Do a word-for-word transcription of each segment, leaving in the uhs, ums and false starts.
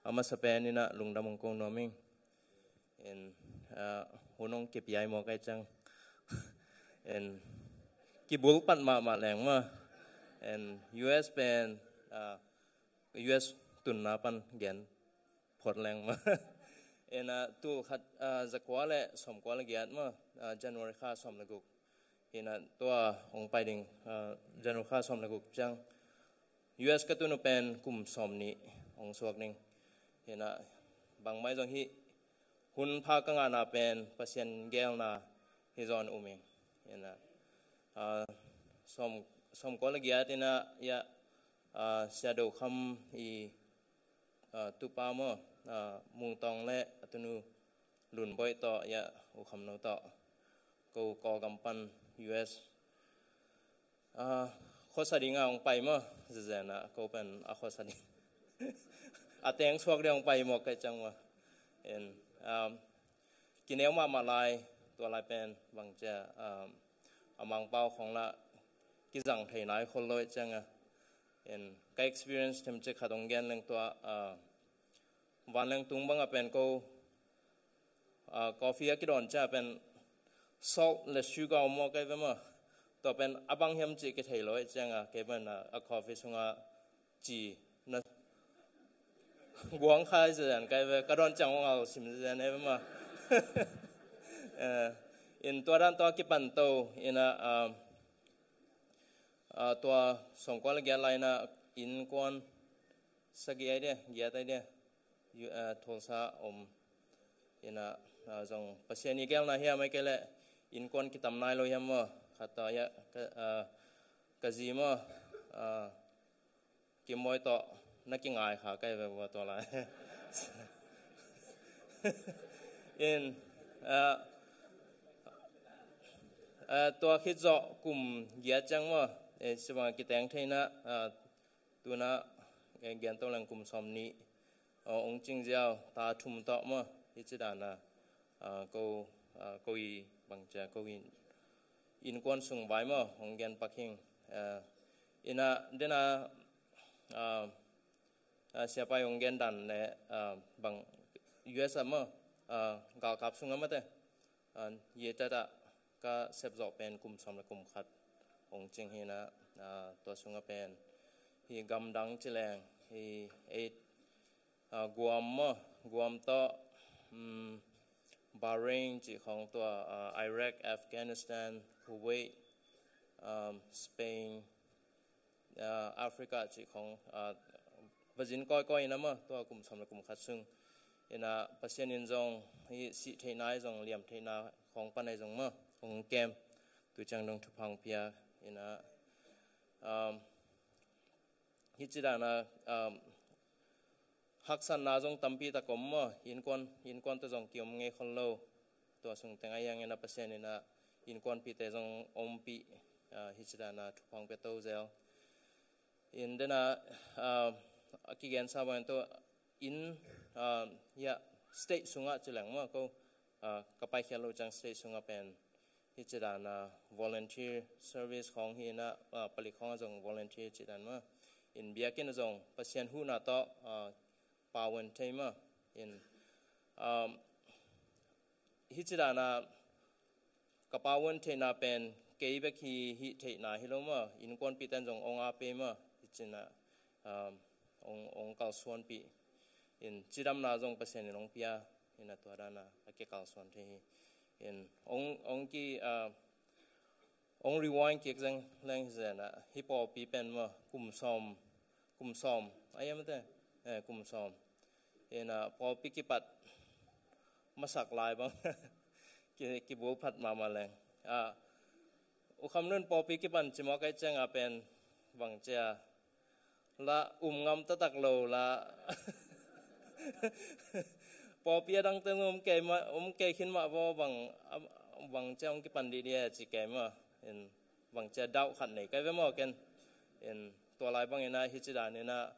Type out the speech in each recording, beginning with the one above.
A masa pen in ah lungdam hong ko nuam ing. In, ah, hun hong kipiai mawk ai ciang. In, kibulpat mahmah leng maw. In, U S pen, ah, U S tunna pan gen phot leng maw. In, ah, tul khat, ah, zakua le sawmkua le giat maw, ah, January kha sawm le guk. In ah tua hong pai ding, ah, January kha sawm le guk ciang U S ka tun uh pen kum sawm nih hong suak ding. In ah bangmah zong hih hun pha ka ngahna pen Pasian geelna hi zaw in um ing. In ah, ah, sawm, sawmkua le giat in ah, ya, ah, Sia Do Kham i, ah, tupa maw, ah, Mung Tawng le a tunu Lun Boih tawh, ya, U Kham No tawh, ko Kawlgam pan U S, ah, khuasa ding a hong pai maw, zezen ah ko pen a khuasa ding. A teng suak ding hong pai mawk ai ciang maw. In, um, kineu mahmah lai, tua lai pen bangcia, um, a Mangpau khawng lah kizang thei nai khol lo ai ciang a. In, ka experience themcik khat hong gen leng tua, ah, vanleng tung bang a pen ko, ah, coffee a kidawn ciang a pen salt le sugar om maw kai ve maw. Tua pen a bang hiam cih kithei lo ai ciang a, kei pen, ah, a coffee sungah ci na guang khai zezen kai ve, ka dawn ciang hong al sim zezen ai ve maw. Eh, in tua dan tua kipan to, in ah, ah, ah, tua sawmkua le giat lai in ah innkuan sagih ai dia, giat ai dia, yu-, ah, Tulsa om. In ah, ah, zong Pasian i geelna hiam ai kei leh innkuan kitam nai lo hiam maw. Khat tawh ya, ka, ah, ka zi maw, ah, Kim Boih tawh na kingai kha kai ve ua tua lai. In, ah, ah, tua khit zawh kum giat ciang maw, eh, sivang a kiteng thei in ah, ah, tu in ah, eh, gen to leng kum sawm nih, oh, hong cing ziau, ta thum tawh maw, hi ci dan a, ah, ko, ah, ko i bangcia, ko i innkuan sung vai maw, hong gen pak hing. Ah, in ah, den a, ah, ah, siapa i hong gen dan le, ah, bang U S ah maw, ah, galkap sung ah mate, ah, ye tat ah ka sep zawh pen kum sawm le kum khat hong cing hi in ah, ah, tua sung ah pen hi gamdang ci leng, hi eight, ah, Guam maw, Guam tawh, um, Bahrain cih khawng tua, ah, Iraq, Afghanistan, Kuwait, um, Spain, ah, Africa cih khawng, ah, va zin kawikawi in ah maw, tua kum sawm le kum khat sung. In ah Pasian in zong hi sih theihna ai zong, liam theihna khawng pan ai zong maw, hong kem. Tu ciang dong thupha hong pia. In ah, um, hi ci dan a, um, haksatna zong tampi tak om maw, innkuan, innkuan tawh zong kiom ngei khol lo. Tua sung teng a hiang in ah Pasian in ah innkuanpihte zong ompih, ah, hi ci dan a thupha hong pia to zel. In den a, ah, a kigensa bang in tua in, ah, ya, state sungah ci leng maw ko, ah, ka paikhiat lo ciang state sungah pen hi ci dan a volunteer service khawng hi in ah, ah, palik khawng ah zong volunteer ci dan maw. In biakinn ah zong Pasian huhna tawh, ah, pawan thei maw. In, um, hi ci dan a ka pawan theihna pen kei bek hi, hih theihna hi lo maw, innkuanpihte in zong hong ap pei maw, hi ci in ah, um, hong, hong kalsuanpih. In cidamna zong Pasian in hong pia, in ah tua dan a a kikalsuan thei hi. In hong, hong ki, ah, hong rewind kik zeng leng hi zen ah, hi pawlpi pen maw, kum sawm, kum sawm, a hiam te, eh, kum sawm. In ah pawlpi kipat masak lai bang, ki, kibulphat mahmah leng. Ah, U Kham Nun pawlpi kipan ci mawk ai ciang a pen bangcia la um ngam taktak lo la. Pawlpi a dangte om kei mah, om kei khin mah vaw bang, bangcia hong kipan dih dih e ci kei mah. In bangcia dauh khat nei kai ve maw ken. In tua lai bang in ah hi ci dan in ah,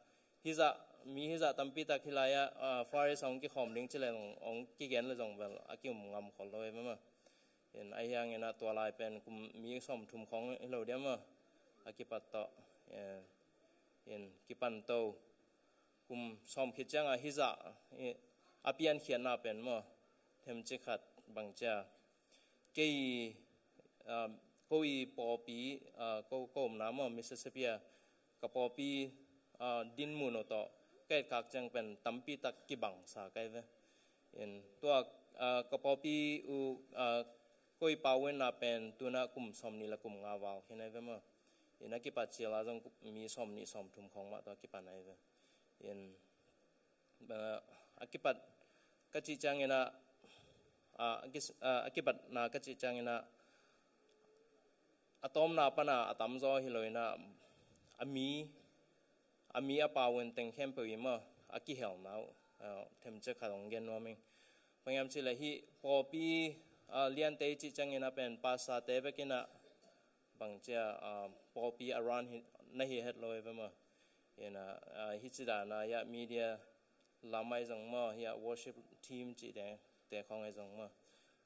hi zah, mi hi zah tampi tak hi lai ah, ah, Far East ah hong kikhawm ding ci leng hong kigen le zong bel a ki um ngam khol lo e mah. In a hiang in ah tua lai pen kum mi sawm thum khawng hi lo diam maw, a kipat tawh. Eh, in kipan to. kum sawm khit ciangah hizah a piankhiatna pen maw, themcik khat bangcia kei, ko i pawlpi, ko, ko omna maw Mississippi a ka pawlpi dinmun uh tawh ka etkak ciang pen tampi tak kibangsa kai ve. In tua ka pawlpi uh ko i pawlna pen tuna kum sawm nih le kum nga val khin ai ve maw. In a kipat ciala zong mi sawm nih sawm thum khong mah tawh kipan ai ve. In a kipat ka cih ciangin a, a kipatna ka cih ciangin a, a tawmna pana a tamzaw hi lo in a, a mi a mi a pawlna teng khempeuh i maw a kihelna uh themcik khat hong gen nuam ing. Bang hiam cih leh hih pawlpi liante i cih ciangin a pen pastorte bekin a bangcia pawlpi a run na hi het lo i ve maw. In a hih cidana hiah media lam ai zong maw, hiah worship team cihte khong ai zong maw.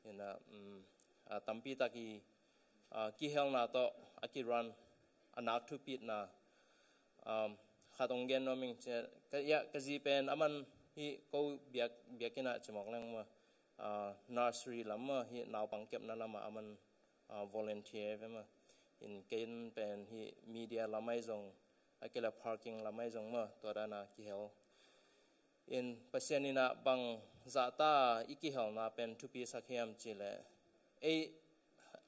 In a tampi tak i kihelna tawh a kirun a nak thupitna khat hong gen nuam ing. Ka zi pen aman hih ko biak, biakinn ah cimawk leng maw, nursery lam maw, hih naupang kepna lamah aman volunteer ve maw. In ken pen hih media lam ai zong a kile parking lam ai zong maw, tua dana kihel. In Pasian in a bang zahta i kihelna pen thupi sak hiam cih leh ei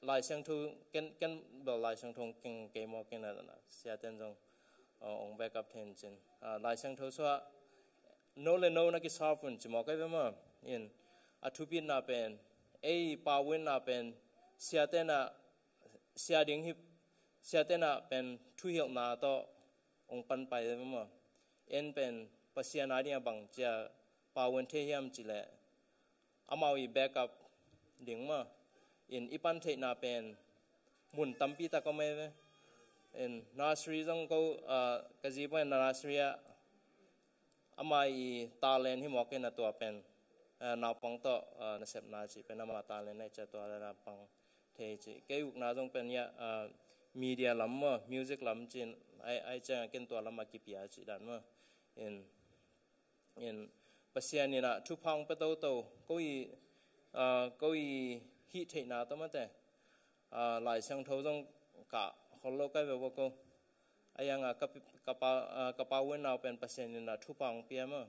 Lai Siangtho ken, ken bel Lai Siangtho keng kei maw ken a siaten zong ong backup thei in cin. Lai Siangtho suah no le no na kiserve un cimawk ai ve maw. In a thupitna pen ei pawlna pen siaten a sia ding hi, siaten a pen thuhilhna tawh ong panpai ve maw. En pen Pasian a ding a bangcia pawlna thei hiam cih leh amau i backup ding maw. In i pan theihna pen mun tampi tak om ai ve. In nursery zong ko ka zi pen nursery ah ama i talent hi mawk in a tua pen naupang tawh nasepna cih pen ama talent ai cia tua naupang thei cih. Kei ukna zong pen hiah media lam maw, music lam cin ai, ai ciang a ken tua lam a kipia cih dan maw. In, in Pasian in a thupha ong pia toto ko i, ko i hih theihna tawh mate Lai Siangtho zong kah khol lo kai ve ua ko. A iang a ka pawlna uh pen Pasian in a thupha ong pia maw.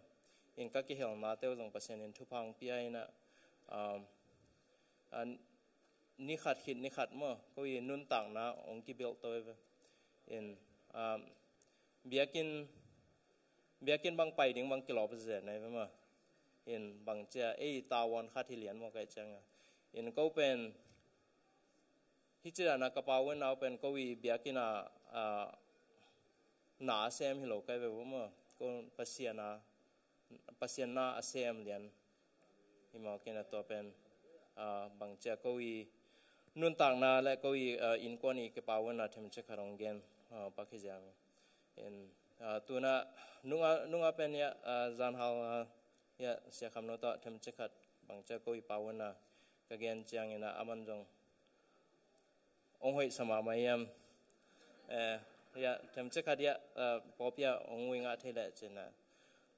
In ka kihelna teu zong Pasian in thupha ong pia in a ni khat khit ni khat maw ko i nuntakna ong kibilh to ve. In biakinn, biakinn bang pai ding bang kilawp zen ai ve maw. In bangcia ei tavuan khat hi lian maw kai ciang a. In ko pen hih cidana ka pawlna uh pen ko i biakinn a na a sem hi lo kai ve ua maw. Ko Pasian a, Pasian na a sem lian hi mawk in a tua pen bangcia ko i nuntakna le ko i innkuan i kipawlna themcik khat ong gen pak hi ziang. In tuna nunga, nunga pen hiah zanhal hiah Sia Kham No tawh themcik khat bangcia ko i pawlna ka gen ciangin a aman zong ong hoih sa mahmah hiam. Hiah themcik khat hiah pawlpi ah ong ui ngah thei leh cin a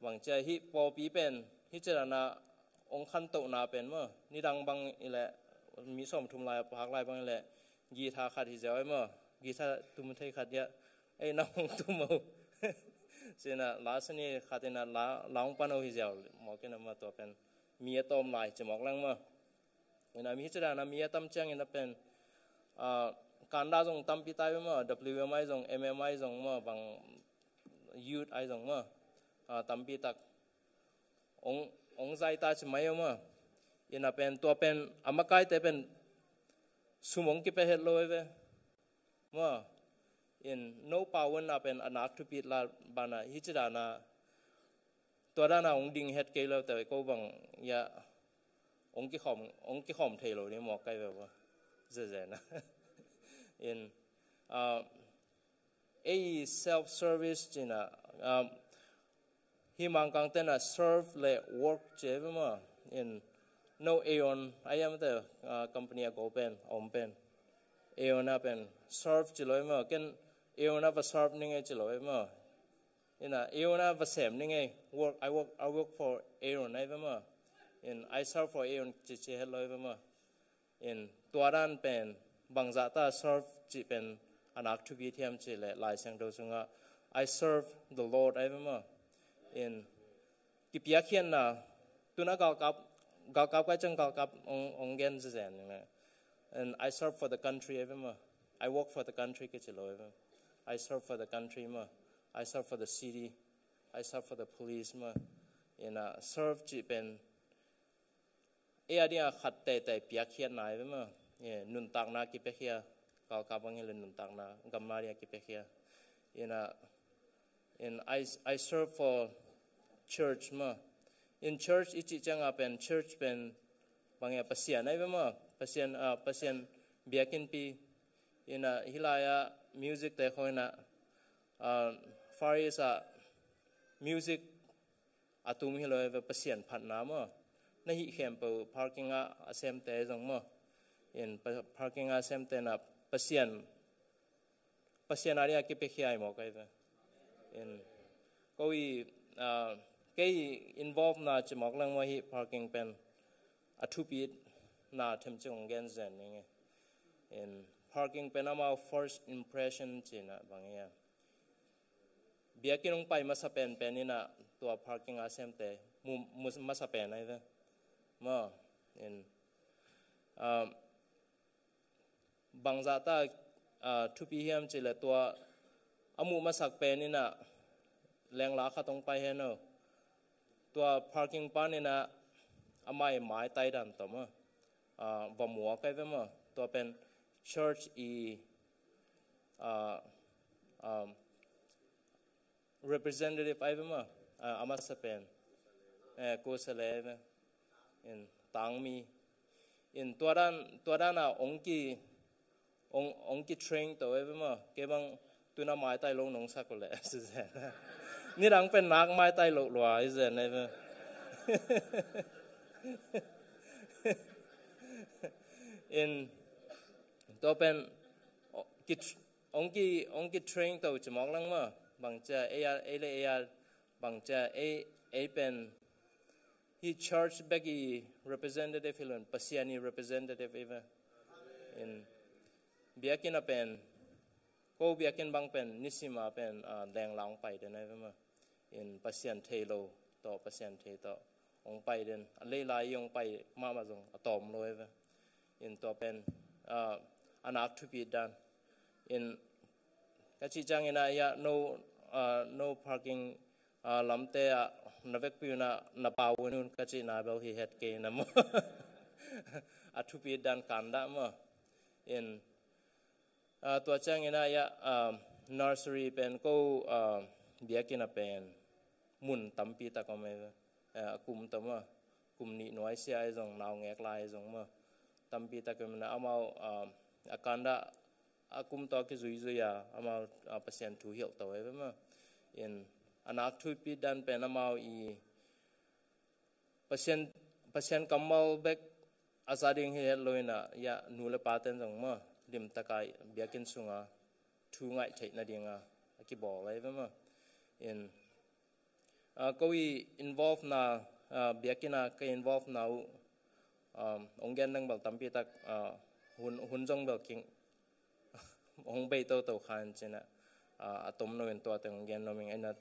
bangcia hih pawlpi pen hih cidana ong khantohna pen maw, nidang bang i leh mi sawm thum lai a phak lai bang i leh guitar khat hi ziau ai maw, guitar tum thei khat hiah ei na hong tum o. Cin a la sani khat in a la, la hong pan o hi ziau mawk in a maw tua pen mi a tawm lai cimawk leng maw. In a mi hih cidana mi a tam ciangin a pen kanda zong tampi tai ve maw, W M ai zong, M M ai zong maw, bang youth ai zong maw tampi tak ong, ong zai ta ci mai o maw. In a pen tua pen a makaite pen sum ong kipia het lo ai ve maw. In no pawlna pen a nak thupit la bana hih cidana tua dana ong ding het kei lo te ko bang hiah ong kikhawm, ong kikhawm thei lo ni mawk kai ve ua. Zezena. In ei self service cina hih Mangkang tena serve le work ci ai ve maw. In no Aeon a iam te company a go pen a om pen Aeon a pen serve ci lo ai maw. Ken Aeon a va serve ning e ci lo ai maw. Ina Aaron a va sem ning ei. Work, I work, I work for Aaron ai ve maw. In I serve for Aaron ci ci het lo ai ve maw. In tua dan pen bangzah ta serve ci pen a nak thupi thiam ci le Lai Siangtho sungah I serve the Lord ai ve maw. In kipiakkhiatna tuna galkap, galkap kai ciang galkap ong, ong gen zezen ning le. And I serve for the country ai ve maw. I work for the country kici lo ai ve. I serve for the country maw. I serve for the city. I serve for the police maw. Ina serve ci pen ei a dingah khat teitei piakkhiatna ai ve maw. Nuntakna kipiakhia, galkap bang hi le nuntakna gamna dingah kipiakhia. Ina in I, I serve for church maw. In church i cih ciangah pen church pen bang ia Pasian ai ve maw. Pasian, ah, Pasian biakinnpi. Ina hi lai-ah music te khawng ina, ah, Far East ah music a tum hi lo ai ve, Pasian phatna maw. Na hih khempeuh parking ah a semte zong maw. In pa-, parking ah a semte na Pasian, Pasian a dingah kipiakhia ai mawk ai ve. In ko i, ah, kei involve na ci mawk leng maw, hih parking pen a thupina themcik ong gen zen ning ei. In parking pen amau first impression cina bang ia biakinn ong pai masa penpen ina tua parking a semte mu, mu masa pen ai ve maw. In, um, bangzah ta, uh, thupi hiam ci le tua a muh masak pen ina lengla khat ong pai hen o. Tua parking pan ina a mai maitai dan tawh maw, uh, va muak ai ve maw. Tua pen church i, uh, um, representative ai ve maw, ah, a masa pen. Eh, kusale ai ve. In tangmi. In tua dan, tua dan a ong ki, ong, ong ki train to ai ve maw. Kei bang tuna maitai lo nong sak le. Nidang pen nak maitai lo lua ai zen ai ve. In tua pen, o, ki tr-, ong ki, ong ki train to ci mawk lang maw. Bang cia ei a, ei le ei a, bang cia ei, ei pen hi church bek i representative hi lo in Pasian i representative i ve. In biakinn a pen, ko biakinn bang pen nisim a pen, ah, lengla ong pai den ai ve maw. In Pasian thei lo tawh, Pasian thei tawh ong pai den, a leilai i ong pai mahmah zong a tawm lo ai ve. In tua pen, ah, a nak thupi dan. In ka cih ciang ina ia no, ah, no parking, ah, lamte ah na vekpi una na pau un un ka cihna bel hi het kei na maw. A thupi dan kan dah maw. In Ah, tua ciangin ah, ia, ah, nursery pen ko, ah, biakinn ah pen mun tampi tak om e. Ah, a kum tawh maw, kum nih nuai sia e zong, nau ngek lai e zong maw, tampi tak om e. Amau, ah, a kanda a kum tawh kizuizui a, amau, ah, Pasian thu hilh to e maw. In a nak thupi dan pen amau i Pasian, Pasian kammal bek a za ding hi het lo in ah, ia, nu le pa ten zong maw, limtak a biakinn sunga thu ngaih theih nading a, a kibawl ahi ve maw. In, ah, ko i involve na, ah, biakinn a ka involve na uh, um, ong gen dang bel tampi tak, ah, hun, hun zong bel king, hong bei toto khan cin ah, ah, a tom lo in tua teng hong gen lo ming. Ina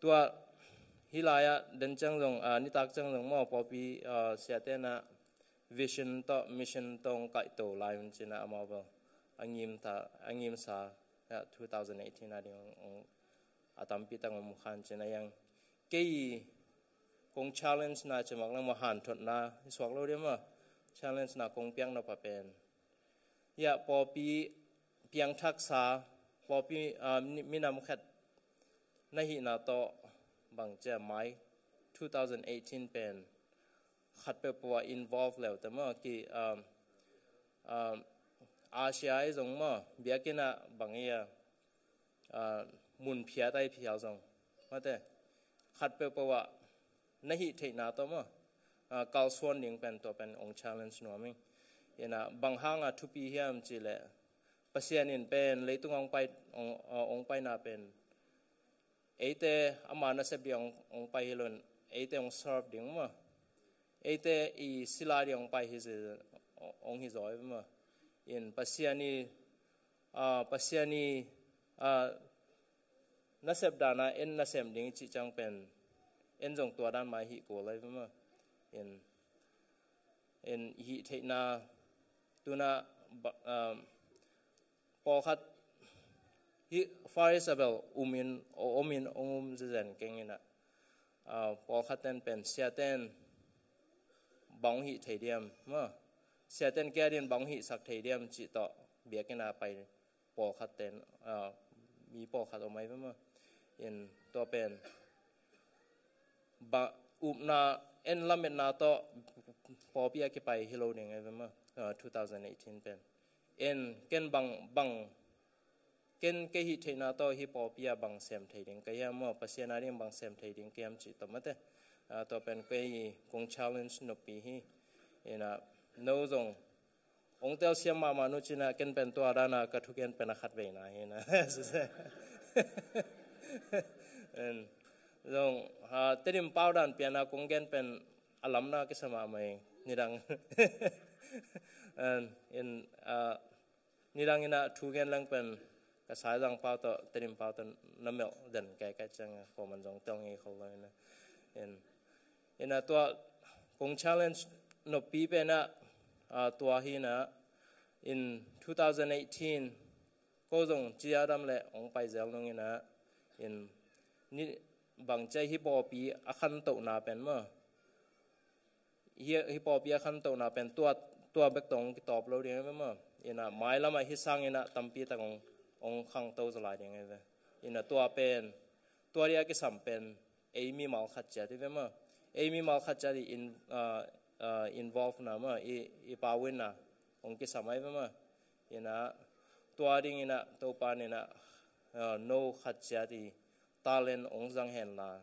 tua hi lai ah den ciang zong, ah, nitak ciang zong maw pawlpi, ah, siate na vision tawh mission tawh hong kaih to lai un cin ah amau bel a ngim ta, a ngim sa, ah, two thousand eighteen a ding hong, hong a tampi tak hong mu khan cin ah, iang kei kong challenge na ci mawk lang maw, hanthotna i suak lo dia maw, challenge na kong piak nop a pen, ia, pawlpi piangthaksa, pawlpi, ah, mi, minam khat na hihna tawh bang cia mai two thousand eighteen pen khat peuhpeuh ah involve leu te maw, ki, um, um, Asia i zong maw, biakinn ah bang ia, ah, mun phiat ai phial zong, mate, khat peuhpeuh ah na hih theihna tawh maw, ah, kalsuan ding pen tua pen ong challenge nuam ing. Ina bang hang a thupi hiam ci leh, Pasian in pen leitung ong pai, ong, ah, ong paina pen eite ama nasep ding hong, hong pai hi lo in, eite hong serve ding maw, eite i sila ding hong pai hi zi, hong hi zaw hi maw. In Pasian i, ah, Pasian i, ah, nasep dana en nasem ding i cih ciang pen en zong tua dan mah hi kul lai maw. In, in i hih theihna tuna ba, ah, pawlkhat hi Far East a bel um in, om in, om um zezen keng in ah, ah, pawlkhat ten pen siaten bang hih thei diam maw, siaten kei adin bang hih sak thei diam cih tawh biakinn a pai pawlkhat ten, ah, mi pawlkhat om ai ve maw. In tua pen ba upna en lametna tawh pawlpi a kipai hi lo ding ai ve maw, ah, two thousand eighteen pen. En ken bang, bang, ken kei hih theihna tawh hi pawlpi a bang sem thei ding ka hiam maw, Pasian a ding bang sem thei ding ka hiam cih tawh mate. Ah, tua pen kei kong challenge noppi hi. In ah, no zong ong telsiam mahmah nu cin ah ken pen tua dana ka thugen pen a khat veina hi na. En, zong, ah, Tedim pau dan piana kong gen pen a lamna kisa mahmah hi. Nidang, en, in, ah, nidang in ah thugen leng pen ka Saizang pau tawh Tedim pau tawh na melh den kaikai ciang a, kua man zong tel ngei khol lo in ah. In, in ah tua kong challenge noppi pen ah, ah, tua hi in ah, in two thousand eighteen ko zong ci a dam leh ong pai zel nung in ah, in, ni bang ci a hi pawlpi a khantohna pen maw, hi, hi pawlpi a khantohna pen tua, tua bek tawh ong kitawp lo ding ai ve maw. In ah mailam ah hi sang in ah tampi tak ong, ong khangto zaw lai ding ai ve. In ah tua pen, tua ding a kisam pen ei mimal khat ciat hi ve maw. Ei mimal khat ciat i in, ah, ah, involve na maw, i, i pau in ah ong kisam ai ve maw. In ah tua ding in ah Topa in ah, ah, no khat ciat i talent ong zang hen la,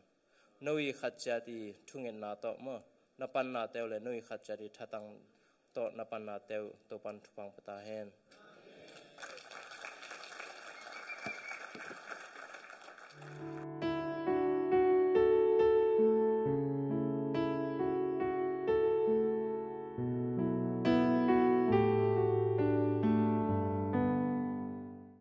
no i khat ciat i thungetna tawh maw, na panna teuh le no i khat ciat i thatang tawh na panna teuh Topan thupha ong pia ta hen.